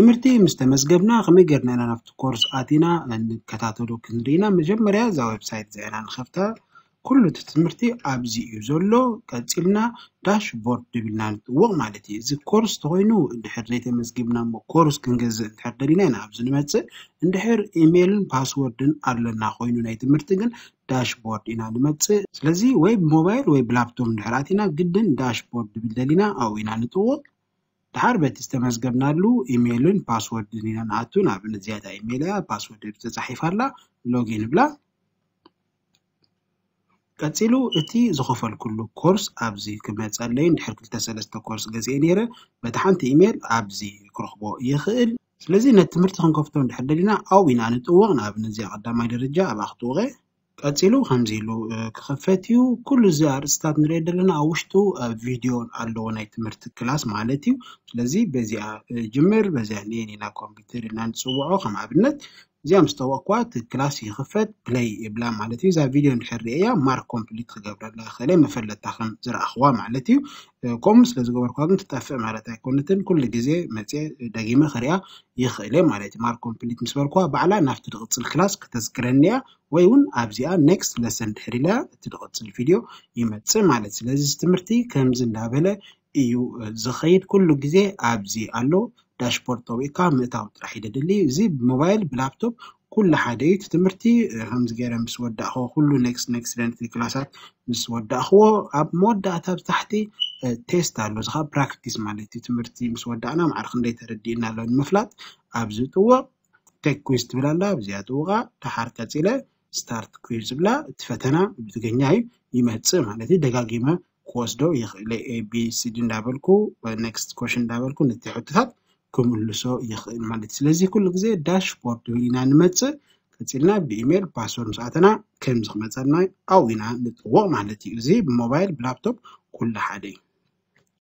ትምህርቲ ምስ ተመዝገብና ከመይ ጌርና ኢና ናብቲ ኮርስ ኣቲና ንከታተሎ ክንርኢ ኢና። መጀመርያ እዛ ዌብሳይት እዚኣ ኢና ንኸፍታ። ኩሉ እቲ ትምህርቲ ኣብዚ እዩ ዘሎ። ቀጺልና ዳሽቦርድ ድብልና ንጥውቕ ማለት እዩ። እዚ ኮርስ ተኾይኑ እንድሕር ዘይተመዝጊብና እሞ ኮርስ ክንገዝእ እንድሕር ደሊና ኢና ኣብዚ ንመጽእ። እንድሕር ኢሜይልን ፓስወርድን ኣለና ኮይኑ ናይ ትምህርቲ ግን ዳሽቦርድ ኢና ንመጽእ። ስለዚ ወይ ብሞባይል ወይ ብላፕቶፕ እንድሕር ኣቲና ግድን ዳሽቦርድ ድብል ደሊና ኣብኡ ኢና ንጥውቕ። ድሓር በቲ ዝተመዝገብናሉ ኢሜይልን ፓስወርድን ኢና ንኣቱ። ንኣብነት እዚኣ እታ ኢሜይል እያ፣ ፓስወርድ ተጻሒፋ ኣላ፣ ሎጊን ብላ። ቀጺሉ እቲ ዝኸፈልኩሉ ኮርስ ኣብዚ ክመጸለይ፣ እንድሕር ክልተ ሰለስተ ኮርስ ገዚኤ ነይረ፣ በቲ ሓንቲ ኢሜይል ኣብዚ ክረኽቦ ይኽእል። ስለዚ ነቲ ትምህርቲ ክንከፍቶ እንድሕር ደሊና ኣብኡ ኢና ንጥውቕ። ንኣብነት እዚኣ ቀዳማይ ደረጃ ኣብኣ ክጥውቐ። ቀጺሉ ከምዚ ኢሉ ክኽፈት እዩ። ኩሉ እዚ ኣርእስታት ንሪኦ ዘለና ኣብ ውሽጡ ቪድዮ ኣለዎ ናይ ትምህርቲ ክላስ ማለት እዩ። ስለዚ በዚኣ ጅምር፣ በዚኣ ኔን ኢና ኮምፒውተር ኢልና ንፅውዖ። ከም ኣብነት እዚኣ ምስ ጠወቕኳ እቲ ክላስ ይኽፈት፣ ፕለይ ይብላ ማለት እዩ። እዛ ቪድዮ እንድሕር ርእያ ማርክ ኮምፕሊት ክገብረላ ይኽእለ መፈለጥታ ከም ዝረኣኽዋ ማለት እዩ። ከምኡ ስለ ዝገበርኳ ግን ትጠፍእ ማለት ኣይኮነትን። ኩሉ ግዜ መፅየ ደጊመ ክሪኣ ይኽእለ ማለት እዩ። ማርክ ኮምፕሊት ምስ በልኳ ባዕላ ናብቲ ዝቕፅል ክላስ ክተዝክረኒ እያ። ወይ እውን ኣብዚኣ ኔክስት ለሰን ድሕር ኢላ እቲ ዝቕፅል ቪድዮ ይመፅእ ማለት። ስለዚ እዚ ትምህርቲ ከምዚ እንዳበለ እዩ ዝኸይድ። ኩሉ ግዜ ኣብዚ ኣሎ ዳሽቦርድ ጠዊቕካ ምእታው ጥራሕ እዩ ደድሊ። እዚ ብሞባይል ብላፕቶፕ ኩሉ ሓደ እዩ። እቲ ትምህርቲ ከምዚ ገይረ ምስ ወዳእኽዎ ኩሉ ኔክስት ኔክስት ኢለ ነቲ ክላሳት ምስ ወዳእኽዎ ኣብ መወዳእታ ብታሕቲ ቴስት ኣሎ። እዚ ከዓ ፕራክቲስ ማለት እዩ። ትምህርቲ ምስ ወዳእና ማዕረ ክንደይ ተረዲእና ኣሎ ንምፍላጥ ኣብዚ ጥውቕ ቴክ ኩዊዝ ትብል ኣላ። ኣብዚኣ ጥውቓ። ድሓር ቀፂለ ስታርት ኩዊዝ ዝብላ እቲ ፈተና ብትግርኛ እዩ ይመፅእ ማለት እዩ። ደጋጊመ ክወስዶ ይኽእለ ኤ ቢ ሲ ዲ እንዳበልኩ ኔክስት ኮሽን እንዳበልኩ ነቲ ሕቶታት ክምልሶ ይኽእል ማለት እዩ። ስለዚ ኩሉ ግዜ ዳሽቦርድ ድብል ኢና ንመፅእ። ቀፂልና ብኢሜይል ፓስወርድ ምስ ኣተና ከምዚ ክመፀልና ኣብኡ ኢና ንጥውቕ ማለት እዩ። እዚ ብሞባይል ብላፕቶፕ ኩሉ ሓደ እዩ።